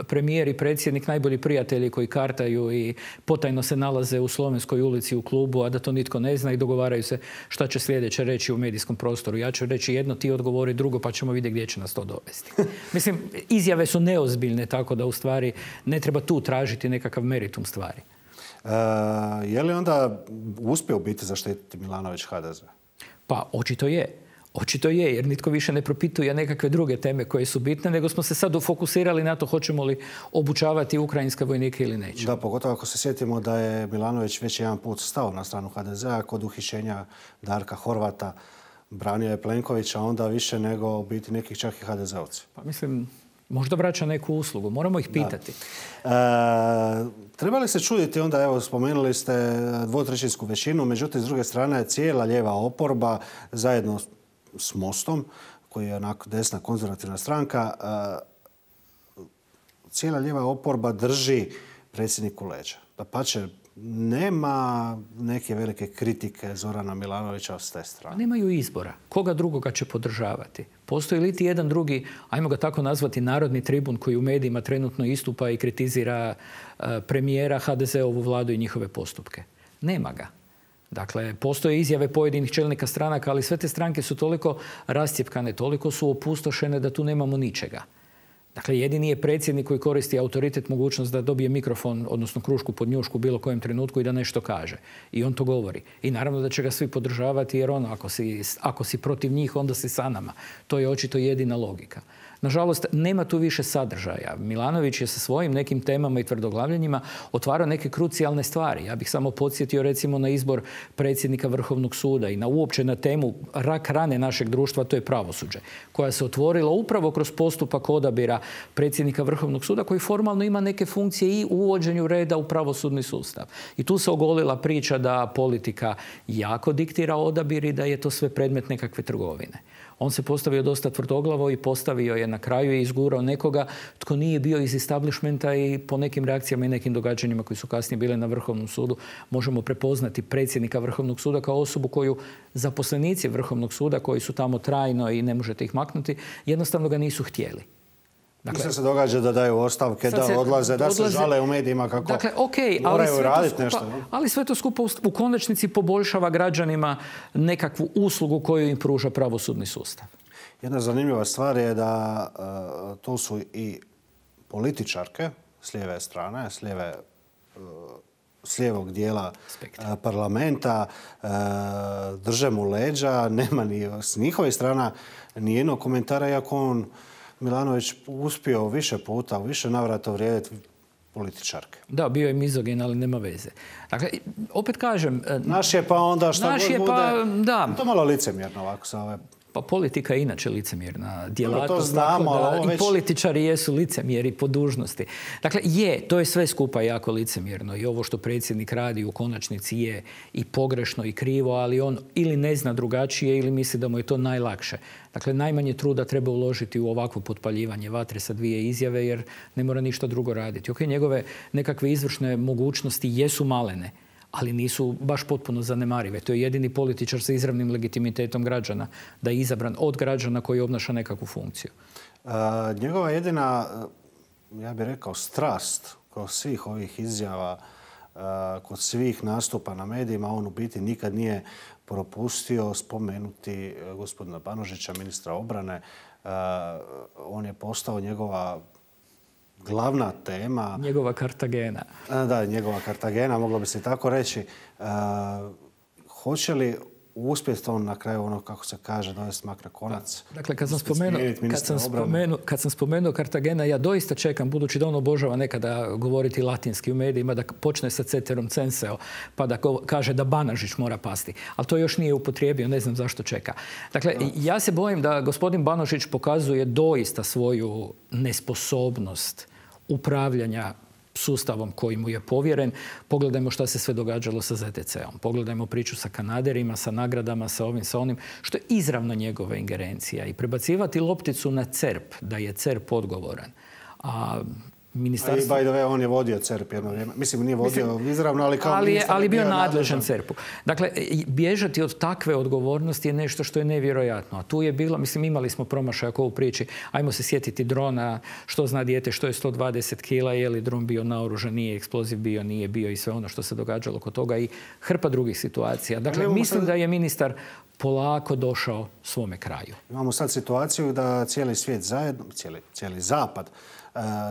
Speaker 11: premijer i predsjednik najbolji prijatelji koji kartaju i potajno se nalaze u Slovenskoj ulici u klubu, a da to nitko ne zna i dogovaraju se šta će sljedeće reći u medijskom prostoru. Ja ću reći jedno, ti odgovori drugo, pa ćemo vidjeti gdje će nas to dovesti. Mislim, izjave su neozbiljne, tako da u stvari ne treba tu tražiti nekakav meritum stvari.
Speaker 1: Je li onda uspio biti zaštititi Milanović HDZ?
Speaker 11: Pa, očito je. Očito je, jer nitko više ne propituje nekakve druge teme koje su bitne, nego smo se sad fokusirali na to hoćemo li obučavati ukrajinske vojnike ili neće.
Speaker 1: Da, pogotovo ako se sjetimo da je Milanović već jedan put stao na stranu HDZ-a kod uhićenja Darka Horvata, branio je Plenkovića, onda više nego biti nekih čak i HDZ-ovci.
Speaker 11: Pa mislim, možda vraća neku uslugu, moramo ih pitati.
Speaker 1: Treba li se čuditi onda, evo, spomenuli ste dvotrećinsku većinu, međutim, s druge strane, cijela lijeva oporba zajedno s Mostom, koji je onako desna konzervativna stranka, cijela lijeva oporba drži predsjedniku leđa. Dapače, nema neke velike kritike Zorana Milanovića s te strane.
Speaker 11: Nemaju izbora. Koga drugoga će podržavati? Postoji li ti jedan drugi, ajmo ga tako nazvati, narodni tribun koji u medijima trenutno istupa i kritizira premijera, HDZ-ovu vladu i njihove postupke? Nema ga. Dakle, postoje izjave pojedinih čelnika stranaka, ali sve te stranke su toliko rascjepkane, toliko su opustošene da tu nemamo ničega. Dakle, jedini je predsjednik koji koristi autoritet, mogućnost da dobije mikrofon, odnosno krušku pod njušku u bilo kojem trenutku i da nešto kaže. I on to govori. I naravno da će ga svi podržavati, jer ono, ako si protiv njih, onda si sa nama. To je očito jedina logika. Nažalost, nema tu više sadržaja. Milanović je sa svojim nekim temama i tvrdoglavljenjima otvarao neke krucijalne stvari. Ja bih samo podsjetio recimo na izbor predsjednika Vrhovnog suda i uopće na temu rak rane našeg društva, to je pravosuđe, koja se otvorila upravo kroz postupak odabira predsjednika Vrhovnog suda koji formalno ima neke funkcije i u uvođenju reda u pravosudni sustav. I tu se ogolila priča da politika jako diktira odabir i da je to sve predmet nekakve trgovine. On se postavio dosta tvrdoglavo i postavio je na kraju i izgurao nekoga tko nije bio iz establishmenta i po nekim reakcijama i nekim događanjima koji su kasnije bile na Vrhovnom sudu možemo prepoznati predsjednika Vrhovnog suda kao osobu koju zaposlenici Vrhovnog suda koji su tamo trajno i ne možete ih maknuti, jednostavno ga nisu htjeli.
Speaker 1: Dakle, sve se događa da daju ostavke, da odlaze, da se žale u medijima kako moraju raditi nešto.
Speaker 11: Ali sve to skupa u konačnici poboljšava građanima nekakvu uslugu koju im pruža pravosudni sustav.
Speaker 1: Jedna zanimljiva stvar je da tu su i političarke s lijeve strane, s lijevog dijela parlamenta, drže mu leđa, nema ni s njihovih strana ni jednog komentara, iako on Milanović uspio više puta, u više navrata uvrijediti političarke.
Speaker 11: Da, bio je mizogin, ali nema veze. Dakle, opet kažem...
Speaker 1: Naš je pa onda šta god bude... Da. To malo licemjerno ovako sa ove...
Speaker 11: Pa politika je inače licemjerna djelatnost.
Speaker 1: To znamo, ali ovo već...
Speaker 11: I političari jesu licemjeri po dužnosti. Dakle, to je sve skupa jako licemjerno. I ovo što predsjednik radi u konačnici je i pogrešno i krivo, ali on ili ne zna drugačije ili misli da mu je to najlakše. Dakle, najmanje truda treba uložiti u ovakvo potpaljivanje vatre sa dvije izjave jer ne mora ništa drugo raditi. Ok, njegove nekakve izvršne mogućnosti jesu malene, ali nisu baš potpuno zanemarive. To je jedini političar sa izravnim legitimitetom građana, da je izabran od građana koji obnaša nekakvu funkciju.
Speaker 1: Njegova jedina, ja bih rekao, strast kod svih ovih izjava, kod svih nastupa na medijima, on u biti nikad nije propustio spomenuti gospodina Banožića, ministra obrane. On je postao njegova glavna tema.
Speaker 11: Njegova Kartagena.
Speaker 1: Da, njegova Kartagena, moglo bi se tako reći. Hoće li uspjeti on na kraju ono, kako se kaže, dovesti mak na konac?
Speaker 11: Dakle, kad sam spomenuo Kartagena, ja doista čekam, budući da on obožava nekada govoriti latinski u medijima, da počne sa ceterum censeo, pa da kaže da Banožić mora pasti. Ali to još nije upotrijebio, ne znam zašto čeka. Dakle, ja se bojim da gospodin Banožić pokazuje doista svoju nesposobnost upravljanja sustavom koji mu je povjeren. Pogledajmo šta se sve događalo sa ZTC-om. Pogledajmo priču sa Kanaderima, sa nagradama, sa ovim, sa onim, što je izravno njegova ingerencija. I prebacivati lopticu na CERP, da je CERP odgovoran. A ministarstvo...
Speaker 1: A i by the way, on je vodio CERP jedno vrijeme. Mislim, nije vodio izravno, ali kao ministar...
Speaker 11: Ali bio nadležan CERP-u. Dakle, bježati od takve odgovornosti je nešto što je nevjerojatno. A tu je bilo, mislim, imali smo promašaj u priči. Ajmo se sjetiti drona, što zna dijete, što je 120 kila, je li dron bio naoružan, nije eksploziv bio, nije bio i sve ono što se događalo kod toga i hrpa drugih situacija. Dakle, mislim da je ministar polako došao svome kraju.
Speaker 1: Imamo sad situaciju da cijeli svijet zajedno, cijeli zapad,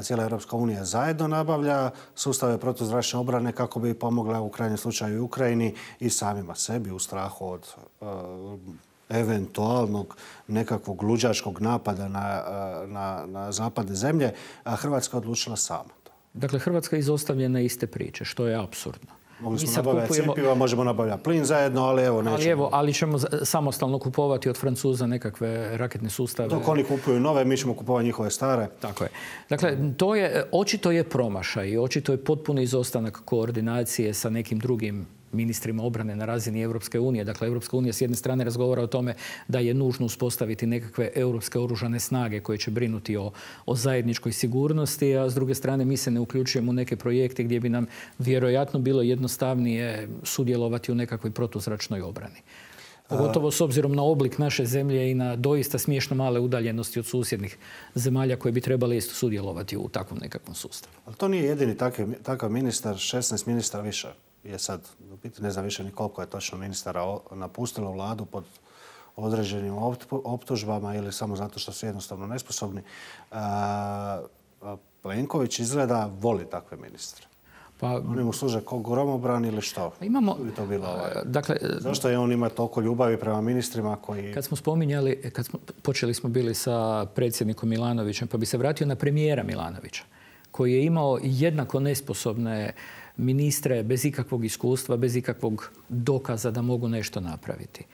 Speaker 1: cijela Europska unija zajedno nabavlja sustave protuzračne obrane kako bi pomogla u krajnjem slučaju i Ukrajini i samima sebi u strahu od eventualnog nekakvog luđačkog napada na zapadne zemlje, a Hrvatska odlučila sama.
Speaker 11: Dakle, Hrvatska je izostavljena iste priče, što je apsurdno.
Speaker 1: Mogli smo nabavljati cjepiva, možemo nabavljati plin zajedno, ali evo nećemo.
Speaker 11: Ali ćemo samostalno kupovati od Francuza nekakve raketne sustave.
Speaker 1: Dok oni kupuju nove, mi ćemo kupovati njihove stare.
Speaker 11: Tako je. Dakle, očito je promašaj i očito je potpuni izostanak koordinacije sa nekim drugim ministrima obrane na razini Europske unije. Dakle, Europska unija s jedne strane razgovara o tome da je nužno uspostaviti nekakve europske oružane snage koje će brinuti o zajedničkoj sigurnosti, a s druge strane mi se ne uključujemo u neke projekte gdje bi nam vjerojatno bilo jednostavnije sudjelovati u nekakvoj protuzračnoj obrani. Pogotovo s obzirom na oblik naše zemlje i na doista smiješno male udaljenosti od susjednih zemalja koje bi trebali isto sudjelovati u takvom nekakvom sustavu.
Speaker 1: Ali to nije jedini takav ministar, 16 ministra više je sad, ne znam više ni koliko je točno ministara napustilo vladu pod određenim optužbama ili samo zato što su jednostavno nesposobni. Plenković izgleda voli takve ministre. Oni mu služe kao gromobran ili što? Zašto je on ima toliko ljubavi prema ministrima koji...
Speaker 11: Kad smo spominjali, počeli smo bili sa predsjednikom Milanovićem, pa bi se vratio na premijera Milanovića, koji je imao jednako nesposobne ministre bez ikakvog iskustva, bez ikakvog dokaza da mogu nešto napraviti.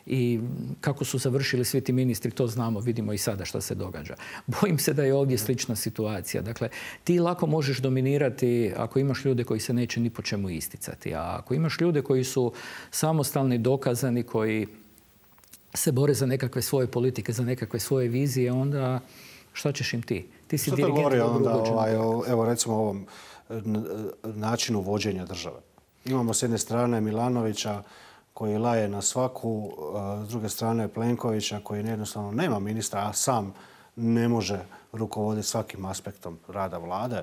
Speaker 11: I kako su završili svi ti ministri, to znamo, vidimo i sada što se događa. Bojim se da je ovdje slična situacija. Dakle, ti lako možeš dominirati ako imaš ljude koji se neće ni po čemu isticati. A ako imaš ljude koji su samostalni, dokazani, koji se bore za nekakve svoje politike, za nekakve svoje vizije, onda šta ćeš im ti? Ti si dirigent.
Speaker 1: Što to govori onda, evo recimo o ovom načinu vođenja države? Imamo s jedne strane Milanovića koji laje na svaku, s druge strane Plenkovića koji jednostavno nema ministra, a sam ne može rukovoditi svakim aspektom rada vlade.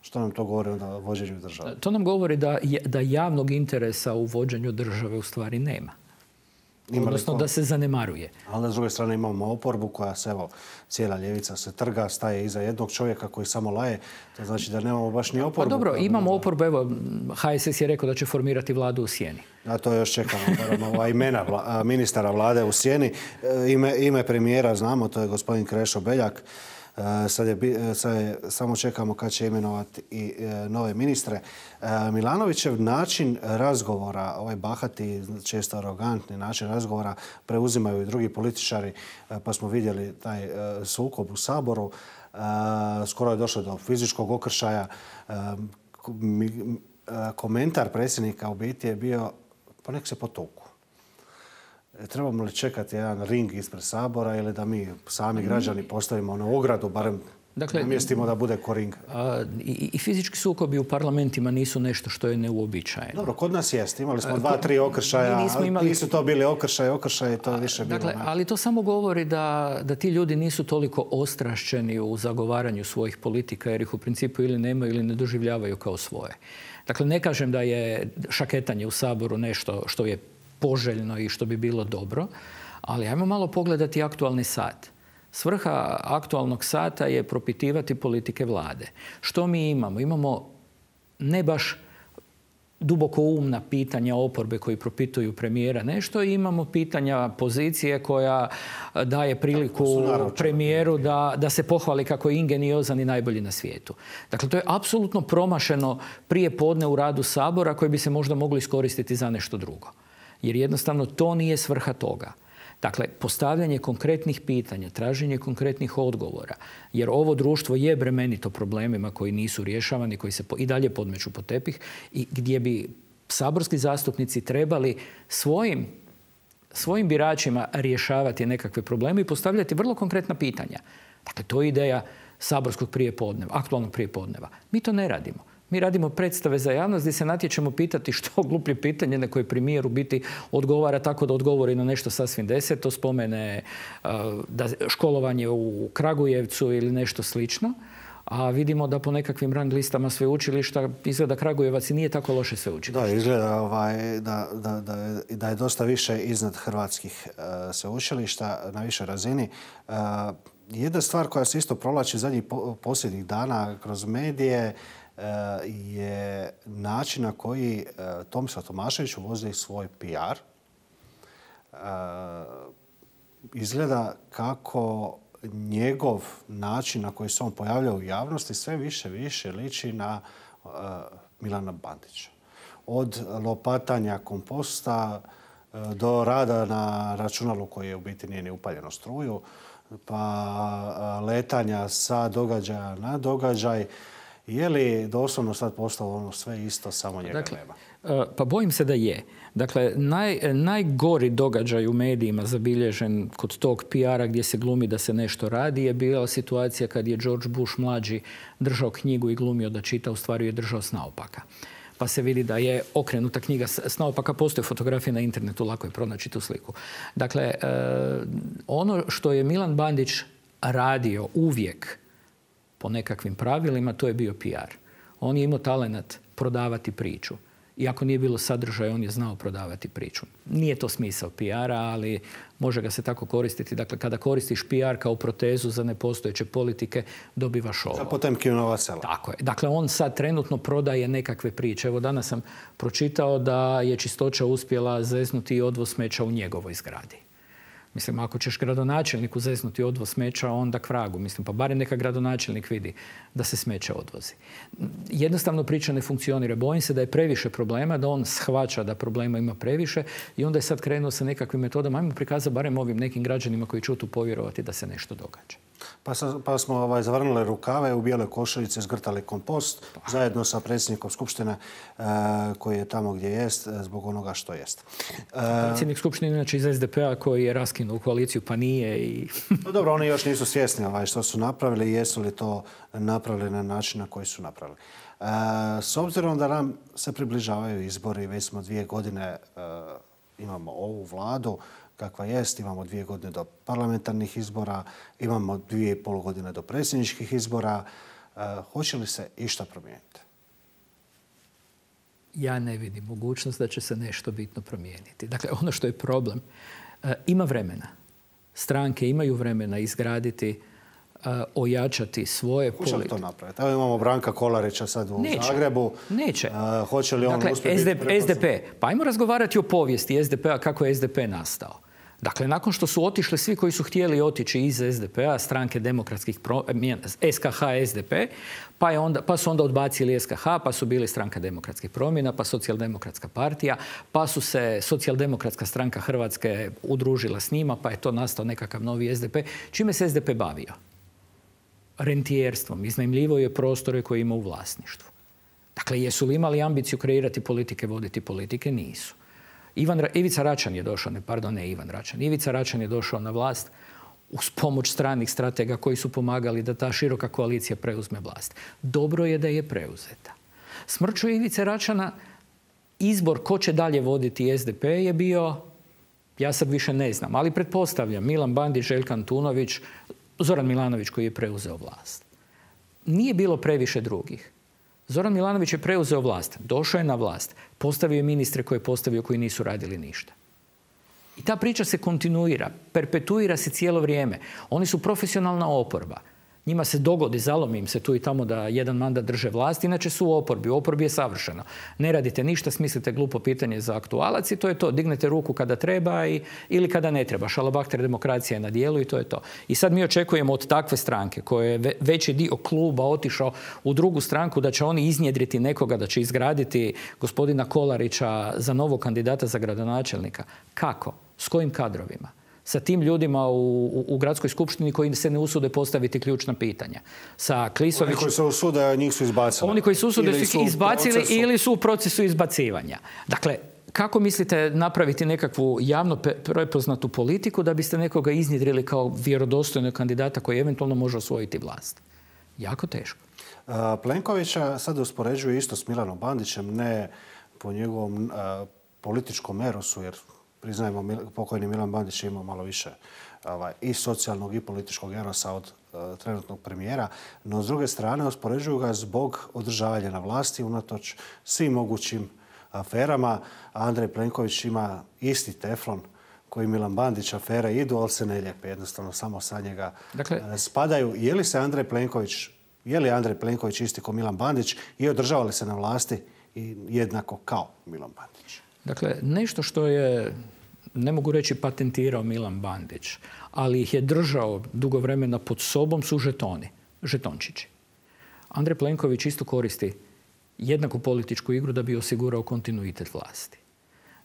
Speaker 1: Što nam to govori onda o vođenju države?
Speaker 11: To nam govori da javnog interesa u vođenju države u stvari nema. Odnosno da se zanemaruje.
Speaker 1: Ali s druge strane imamo oporbu koja se, evo, cijela ljevica se trga, staje iza jednog čovjeka koji samo laje. To znači da nemamo baš ni oporbu.
Speaker 11: Pa dobro, imamo oporbu. Evo, HSS je rekao da će formirati vladu u sjeni.
Speaker 1: A to još čekamo. Imena ministara vlade u sjeni. Ime premijera znamo, to je gospodin Krešo Beljak. Samo čekamo kad će imenovati i nove ministre. Milanovićev način razgovora, ovaj bahati, često arogantni način razgovora preuzimaju i drugi političari, pa smo vidjeli taj sukob u Saboru. Skoro je došlo do fizičkog okršaja. Komentar predsjednika u biti je bio pa nek se potuku. Trebamo li čekati jedan ring ispred Sabora ili da mi sami građani postavimo onu ogradu, barem namjestimo da bude ko ring?
Speaker 11: I fizički sukobi u parlamentima nisu nešto što je neuobičajeno.
Speaker 1: Dobro, kod nas jest. Imali smo 2-3 okršaja, ali nisu to bili okršaj to više bilo.
Speaker 11: Dakle, ali to samo govori da ti ljudi nisu toliko ostrašćeni u zagovaranju svojih politika jer ih u principu ili nemaju ili ne doživljavaju kao svoje. Dakle, ne kažem da je šaketanje u Saboru nešto što je poželjno i što bi bilo dobro, ali ajmo malo pogledati aktualni sat. Svrha aktualnog sata je propitivati politike vlade. Što mi imamo? Imamo ne baš duboko umna pitanja oporbe koji propituju premijera nešto i imamo pitanja pozicije koja daje priliku premijeru da se pohvali kako je ingeniozan i najbolji na svijetu. Dakle, to je apsolutno promašeno prije podne u radu Sabora koji bi se možda mogli iskoristiti za nešto drugo. Jer jednostavno to nije svrha toga. Dakle, postavljanje konkretnih pitanja, traženje konkretnih odgovora, jer ovo društvo je bremenito problemima koji nisu rješavani, koji se i dalje podmeću pod tepih i gdje bi saborski zastupnici trebali svojim biračima rješavati nekakve probleme i postavljati vrlo konkretna pitanja. Dakle, to je ideja saborskog prijepodneva, aktualnog prijepodneva. Mi to ne radimo. Mi radimo predstave za javnost gdje se natječemo pitati što gluplje pitanje na koje premijer u biti odgovara tako da odgovori na nešto sasvim deseto, spomene da školovanje u Kragujevcu ili nešto slično. A vidimo da po nekakvim rang listama sveučilišta izgleda Kragujevac i nije tako loše sveučilište.
Speaker 1: Da, izgleda da je dosta više iznad hrvatskih sveučilišta na višoj razini. Jedna stvar koja se isto provlači zadnjih posljednjih dana kroz medije je način na koji Tomislav Tomašević uvodi svoj PR. Izgleda kako njegov način na koji se on pojavlja u javnosti sve više liči na Milana Bandića. Od lopatanja komposta do rada na računalu koji je u biti nije ni upaljeno struju, pa letanja sa događaja na događaj. Je li doslovno sad postalo ono sve isto, samo njega nema?
Speaker 11: Pa bojim se da je. Dakle, najgori događaj u medijima zabilježen kod tog PR-a gdje se glumi da se nešto radi je bila situacija kad je George Bush mlađi držao knjigu i glumio da čita, u stvari je držao s naopaka. Pa se vidi da je okrenuta knjiga s naopaka, postoje fotografije na internetu, lako je pronaći tu sliku. Dakle, ono što je Milan Bandić radio uvijek po nekakvim pravilima, to je bio PR. On je imao talenat prodavati priču. Iako nije bilo sadržaja, on je znao prodavati priču. Nije to smisao PR-a, ali može ga se tako koristiti. Dakle, kada koristiš PR kao protezu za nepostojeće politike, dobivaš ovo.
Speaker 1: Za Potemkinova sela.
Speaker 11: Tako je. Dakle, on sad trenutno prodaje nekakve priče. Evo, danas sam pročitao da je Čistoća uspjela zeznuti odvoz smeća u njegovoj zgradi. Mislim, ako ćeš gradonačelniku zeznuti odvoz smeća, onda k vragu. Mislim, pa barem neka gradonačelnik vidi da se smeće odvozi. Jednostavno priča ne funkcionira. Bojim se da je previše problema, da on shvaća da problema ima previše i onda je sad krenuo sa nekakvim metodama. Ajmo prikazati barem ovim nekim građanima koji će tu povjerovati da se nešto događa.
Speaker 1: Pa smo zavrnuli rukave, u bijeloj košuljici zgrtali kompost zajedno sa predsjednikom Skupštine koji je tamo gdje jest zbog onoga što jest.
Speaker 11: Predsjednik Skupštine inače iz SDP-a koji je raskinuo koaliciju pa nije.
Speaker 1: Dobro, oni još nisu svjesni što su napravili i jesu li to napravili na način na koji su napravili. S obzirom da nam se približavaju izbori, već smo 2 godine imamo ovu vladu kakva jest, imamo 2 godine do parlamentarnih izbora, imamo 2,5 godine do predsjedničkih izbora. Hoće li se išta promijeniti?
Speaker 11: Ja ne vidim mogućnost da će se nešto bitno promijeniti. Dakle, ono što je problem, ima vremena. Stranke imaju vremena izgraditi, ojačati svoje politike.
Speaker 1: Hoće li to napraviti? Evo imamo Branka Kolarića sad u Zagrebu.
Speaker 11: Neće.
Speaker 1: Hoće li on uspjeti biti
Speaker 11: SDP. Pa ajmo razgovarati o povijesti SDP-a, kako je SDP nastao. Dakle, nakon što su otišli svi koji su htjeli otići iz SDP-a, stranke demokratskih SKH, SDP, pa su onda odbacili SKH, pa su bili stranka demokratskih promjena, pa socijaldemokratska partija, pa su se socijaldemokratska stranka Hrvatske udružila s njima, pa je to nastao nekakav novi SDP. Čime se SDP bavio? Rentijerstvom. Iznajmljivo je prostore koje ima u vlasništvu. Dakle, jesu li imali ambiciju kreirati politike, voditi politike? Nisu. Ivica Račan je došao, Ivica Račan je došao na vlast uz pomoć stranih stratega koji su pomagali da ta široka koalicija preuzme vlast. Dobro je da je preuzeta. Smrću Ivice Račana izbor ko će dalje voditi SDP je bio, ja sad više ne znam, ali pretpostavljam Milan Bandić, Željko Antunović, Zoran Milanović koji je preuzeo vlast. Nije bilo previše drugih. Zoran Milanović je preuzeo vlast, došao je na vlast, postavio je ministre koje je postavio koji nisu radili ništa. I ta priča se kontinuira, perpetuira se cijelo vrijeme. Oni su profesionalna oporba. Njima se dogodi, zalomi im se tu i tamo da jedan mandat drže vlast, inače su u oporbi. U oporbi je savršeno. Ne radite ništa, smislite glupo pitanje za aktualac i to je to. Dignete ruku kada treba ili kada ne treba. Šalabahter demokracija je na dijelu i to je to. I sad mi očekujemo od takve stranke koje je veći dio kluba otišao u drugu stranku da će oni iznjedriti nekoga, da će izgraditi gospodina Kolarića za novog kandidata za gradonačelnika. Kako? S kojim kadrovima? sa tim ljudima u gradskoj skupštini koji se ne usude postaviti ključna pitanja. Sa Klisovićem...
Speaker 1: Oni koji se usude, njih su izbacili.
Speaker 11: Oni koji se usude su izbacili ili su u procesu izbacivanja. Dakle, kako mislite napraviti nekakvu javno prepoznatu politiku da biste nekoga iznjedrili kao vjerodostojnog kandidata koji eventualno može osvojiti vlast? Jako teško.
Speaker 1: Plenkovića sad uspoređuje isto s Milanom Bandićem, ne po njegovom političkom erosu, jer priznajemo pokojni Milan Bandić je imao malo više i socijalnog i političkog erosa od trenutnog premijera, no s druge strane uspoređuju ga zbog održavanja na vlasti unatoč svim mogućim aferama. Andrej Plenković ima isti teflon koji Milan Bandić, afere idu, ali se ne lijepe. Jednostavno samo sa njega spadaju. Je li Andrej Plenković isti kao Milan Bandić i održava li se na vlasti jednako kao Milan Bandić?
Speaker 11: Dakle, nešto što je, ne mogu reći patentirao Milan Bandić, ali ih je držao dugo vremena pod sobom su žetoni, žetončići. Andrej Plenković isto koristi jednaku političku igru da bi osigurao kontinuitet vlasti.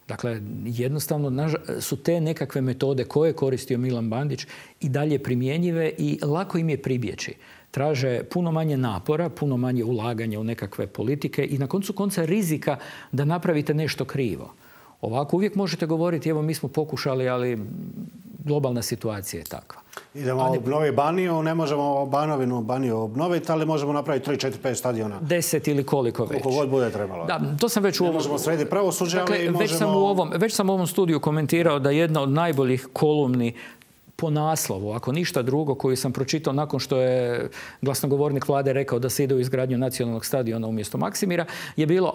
Speaker 11: Dakle, jednostavno su te nekakve metode koje je koristio Milan Bandić i dalje primjenjive i lako im je pribjeći. Traže puno manje napora, puno manje ulaganja u nekakve politike i na koncu konca rizika da napravite nešto krivo. Ovako uvijek možete govoriti, evo mi smo pokušali, ali globalna situacija je takva.
Speaker 1: Idemo obnoviti Baniju, ne možemo Baniju obnoviti, ali možemo napraviti 3, 4, 5 stadiona.
Speaker 11: 10 ili koliko već.
Speaker 1: Koliko god bude trebalo.
Speaker 11: Da, to sam već
Speaker 1: ne možemo srediti pravosuđe,
Speaker 11: dakle,
Speaker 1: ali možemo...
Speaker 11: Već sam u ovom studiju komentirao da jedna od najboljih kolumni po naslovu, ako ništa drugo, koju sam pročitao nakon što je glasnogovornik vlade rekao da se ide u izgradnju nacionalnog stadiona umjesto Maksimira, je bilo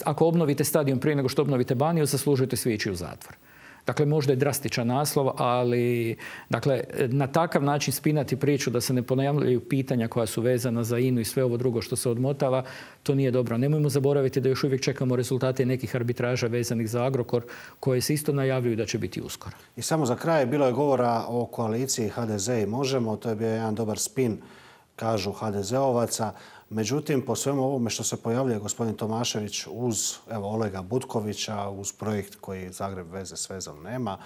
Speaker 11: ako obnovite stadion prije nego što obnovite Baniju, zaslužujete svi ići u zatvor. Dakle, možda je drastičan naslov, ali na takav način spinati priču da se ne ponavljaju pitanja koja su vezana za INA-u i sve ovo drugo što se odmotava, to nije dobro. Nemojmo zaboraviti da još uvijek čekamo rezultate nekih arbitraža vezanih za Agrokor, koje se isto najavljuju da će biti uskoro.
Speaker 1: I samo za kraj, bilo je govora o koaliciji HDZ i Možemo. To je bio jedan dobar spin, kažu HDZ-ovaca. Međutim, po svemu ovome što se pojavljuje gospodin Tomašević uz Olega Butkovića, uz projekt koji Zagreb veze s vezom nema,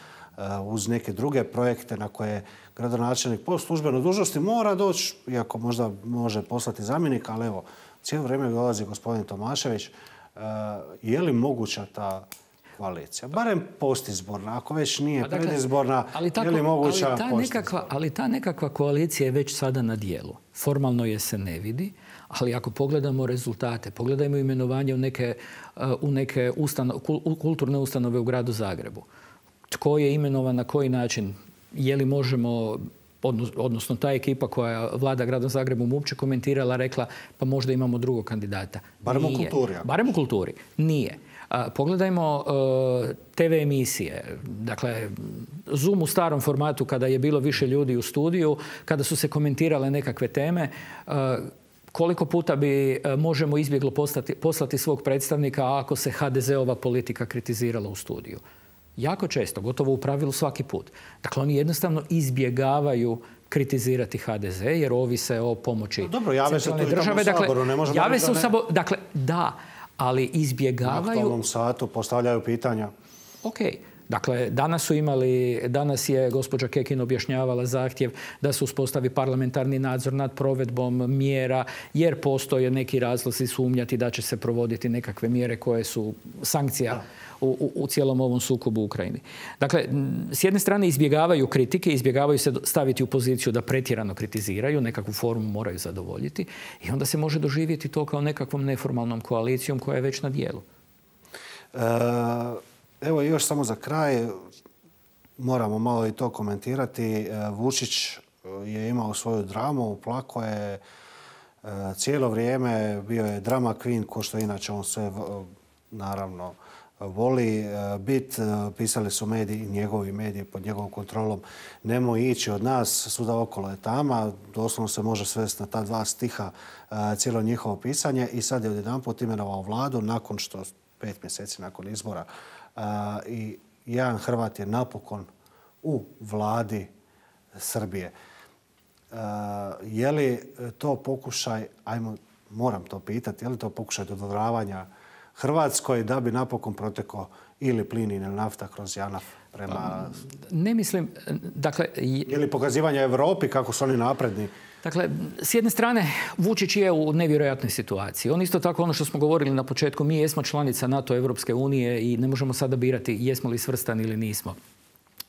Speaker 1: uz neke druge projekte na koje gradonačelnik po službenoj dužnosti mora doći, iako možda može poslati zamjenika, ali evo, cijelo vrijeme dolazi gospodin Tomašević. Je li moguća ta koalicija? Barem postizborna, ako već nije predizborna, je li moguća postizborna?
Speaker 11: Ali ta nekakva koalicija je već sada na dijelu. Formalno je se ne vidi, ali ako pogledamo rezultate, pogledajmo imenovanje u neke kulturne ustanove u gradu Zagrebu. Tko je imenovan, na koji način, je li možemo, odnosno ta ekipa koja vlada gradom Zagrebom uopće komentirala, rekla pa možda imamo drugog kandidata.
Speaker 1: Barem u kulturi.
Speaker 11: Barem u kulturi. Nije. Pogledajmo TV emisije. Dakle, Zoom u starom formatu kada je bilo više ljudi u studiju, kada su se komentirale nekakve teme, koliko puta bi Možemo izbjeglo poslati svog predstavnika ako se HDZ-ova politika kritizirala u studiju? Jako često, gotovo u pravilu svaki put. Dakle, oni jednostavno izbjegavaju kritizirati HDZ jer ovise o pomoći centralne države. Jave se u Saboru. Dakle, da, ali izbjegavaju...
Speaker 1: Na aktualnom satu postavljaju pitanja.
Speaker 11: Ok. Dakle, danas je gospođa Kekin objašnjavala zahtjev da se uspostavi parlamentarni nadzor nad provedbom mjera jer postoje neki razlozi sumnjati da će se provoditi nekakve mjere koje su sankcija u cijelom ovom sukobu u Ukrajini. Dakle, s jedne strane izbjegavaju kritike, izbjegavaju se staviti u poziciju da pretjerano kritiziraju, nekakvu formu moraju zadovoljiti i onda se može doživjeti to kao nekakvom neformalnom koalicijom koja je već na dijelu.
Speaker 1: Evo još samo za kraj, moramo malo i to komentirati. Vučić je imao svoju dramu, plako je cijelo vrijeme, bio je drama queen, ko što inače on sve naravno voli bit. Pisali su mediji, njegovi mediji pod njegovom kontrolom, nemoj ići od nas, svuda okolo je tama. Doslovno se može svesti na ta 2 stiha cijelo njihovo pisanje i sad je odjedanput imenovao vladu nakon što 5 mjeseci nakon izbora i jedan Hrvat je napokon u vladi Srbije. Je li to pokušaj, moram to pitati, je li to pokušaj dodvoravanja Hrvatskoj da bi napokon protekao ili plin ili nafta kroz JANAF prema...
Speaker 11: Ne mislim, dakle...
Speaker 1: Ili pokazivanje Europi kako su oni napredni?
Speaker 11: Dakle, s jedne strane, Vučić je u nevjerojatnoj situaciji. On isto tako, ono što smo govorili na početku, mi jesmo članica NATO, Europske unije i ne možemo sada birati jesmo li svrstani ili nismo.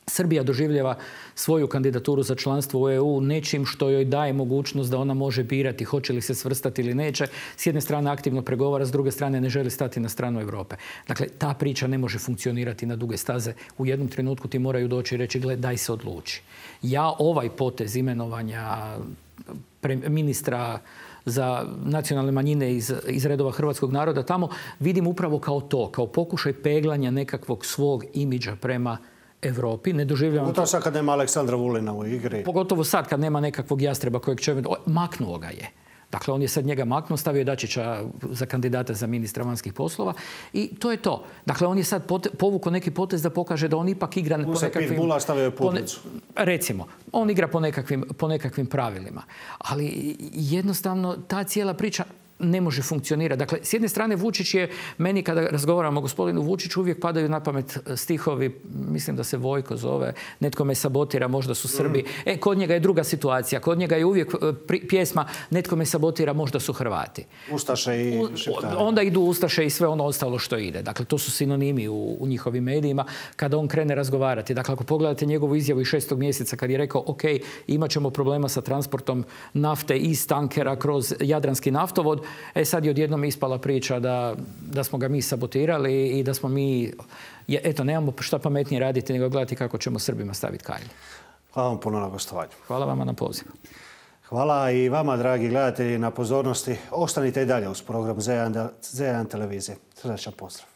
Speaker 11: Srbija doživljava svoju kandidaturu za članstvo u EU nečim što joj daje mogućnost da ona može birati hoće li se svrstati ili neće. S jedne strane aktivno pregovara, s druge strane ne želi stati na stranu Europe. Dakle, ta priča ne može funkcionirati na duge staze. U jednom trenutku ti moraju doći i reći, gle, daj se odluči. Ja ovaj potez imenovanja ministra za nacionalne manjine iz redova hrvatskog naroda tamo vidim upravo kao to, kao pokušaj peglanja nekakvog svog imidža prema Europi. Ne doživljavam...
Speaker 1: Pogotovo sad kad nema Aleksandra Vulina u igri.
Speaker 11: Pogotovo sad kad nema nekakvog jastreba kojeg će... Maknuo ga je. Dakle, on je sad njega maknuo, stavio Dačića za kandidata za ministra vanjskih poslova i to je to. Dakle, on je sad povukao neki potez da pokaže da on ipak igra po nekakvim...
Speaker 1: Mula stavio je putnicu.
Speaker 11: Recimo, on igra po nekakvim pravilima. Ali jednostavno ta cijela priča ne može funkcionirati. Dakle, s jedne strane Vučić je, meni kada razgovaramo o gospodinu Vučiću, uvijek padaju na pamet stihovi, mislim da se Vojko zove, netko me sabotira, možda su Srbi. Kod njega je druga situacija. Kod njega je uvijek pjesma netko me sabotira, možda su Hrvati.
Speaker 1: Ustaše i Šiptari.
Speaker 11: Onda idu Ustaše i sve ono ostalo što ide. Dakle, to su sinonimi u njihovim medijima kada on krene razgovarati. Dakle, ako pogledate njegovu izjavu iz 6. mjeseca kad je rekao, ok, imat ćemo problema sa transportom nafte iz tankera kroz Jadranski naftovod, sad je odjednom ispala priča da smo ga mi sabotirali i da smo mi, eto, nemamo šta pametnije raditi nego gledati kako ćemo Srbima staviti kajlu.
Speaker 1: Hvala vam puno na gostovanju.
Speaker 11: Hvala vama na pozivu.
Speaker 1: Hvala i vama, dragi gledatelji, na pozornosti. Ostanite i dalje uz program Z1 televizije. Srdačan pozdrav.